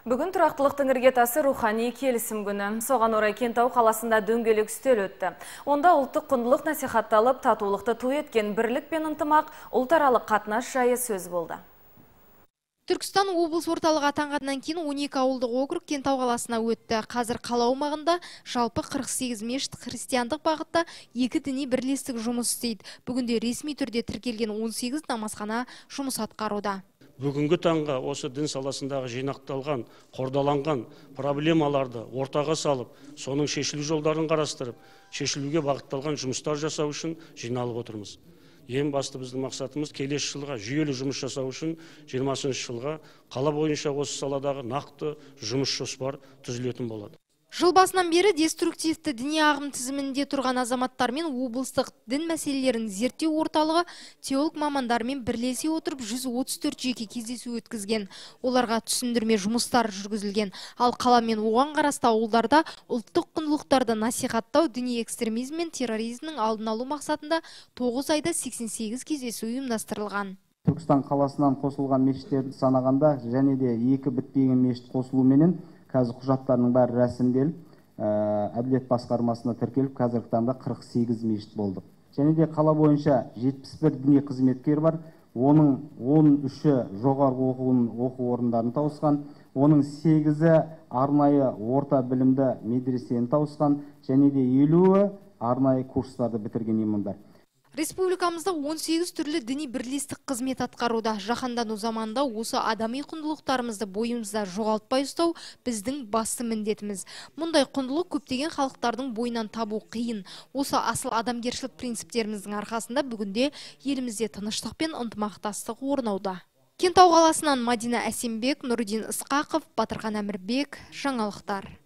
Бүгін тұрақтылықтың іргетасы рухани келісім күні. Соған орай Кентау қаласында дөңгелек үстел өтті. Онда ұлттық құндылық насихатталып, татулықты ту еткен бірлік пен ынтымақ, ұлтаралық қатынас жайы сөз болды. Түркістан облыс орталығы атанғаннан кейін 12 ауылдық округ Кентау қаласына өтті. Қазір қала аумағында жалпы 48 мешіт христиандық бағытта 2 діни бірлестік жұмыс істейді. Бүгінде ресми түрде тіркелген 18 намазхана жұмыс атқаруда. Бүгінгі таңға осы дін саласындағы жинақталған, қордаланған проблемаларды ортаға салып, соның шешілу жолдарын қарастырып, шешілуге бағытталған жұмыстар жасау үшін жиналып отырмыз. Ең басты біздің мақсатымыз келесі жылға жүйелі жұмыс жасау үшін 20-шы жылға қала бойынша осы саладағы нақты жұмыс жоспар түзілетін болады. Жыл басынан бері деструктивті діни ағым тізімінде тұрған азаматтармен облыстық дін мәселелерін зерттеу орталығы теолог мамандармен бірлесе отырып 134 жеке кездесу өткізген. Оларға түсіндірме жұмыстар жүргізілген. Ал қала мен оған қарасты ауылдарда ұлттық құндылықтарды насихаттау, діни экстремизм мен терроризмнің алдын алу мақсатында 9 айда 88 кездесу ұйымдастырылған. Түркістан қаласынан қосылған мешіттерді санағанда және де 2 бітпеген мешіт қосылуменен қазір құжаттарының бәрі рәсімделіп, әділет басқармасына тіркеліп, қазіргі таңда 48 мешіт болды. Және де қала бойынша 71 діни қызметкер бар, оның 13-і жоғарғы оқу орындарын тауысқан, оның 8-і арнайы орта білімді медресені тауысқан, және де 50-і арнайы курстарды бітірген имамдар. Республикамызда 18 түрлі діни бірлестік қызмет атқаруда. Жаһандану заманында осы адами құндылықтарымызды бойымызда жоғалтпай ұстау біздің басты міндетіміз. Мұндай құндылық көптеген халықтардың бойынан табу қиын. Осы асыл адамгершілік принциптеріміздің арқасында бүгінде елімізде тыныштық пен ынтымақтастық орнауда. Кентау қаласынан Мадина Әсембек, Нұрдин Ысқақов, Батырхан Әмірбек, жаңалықтар.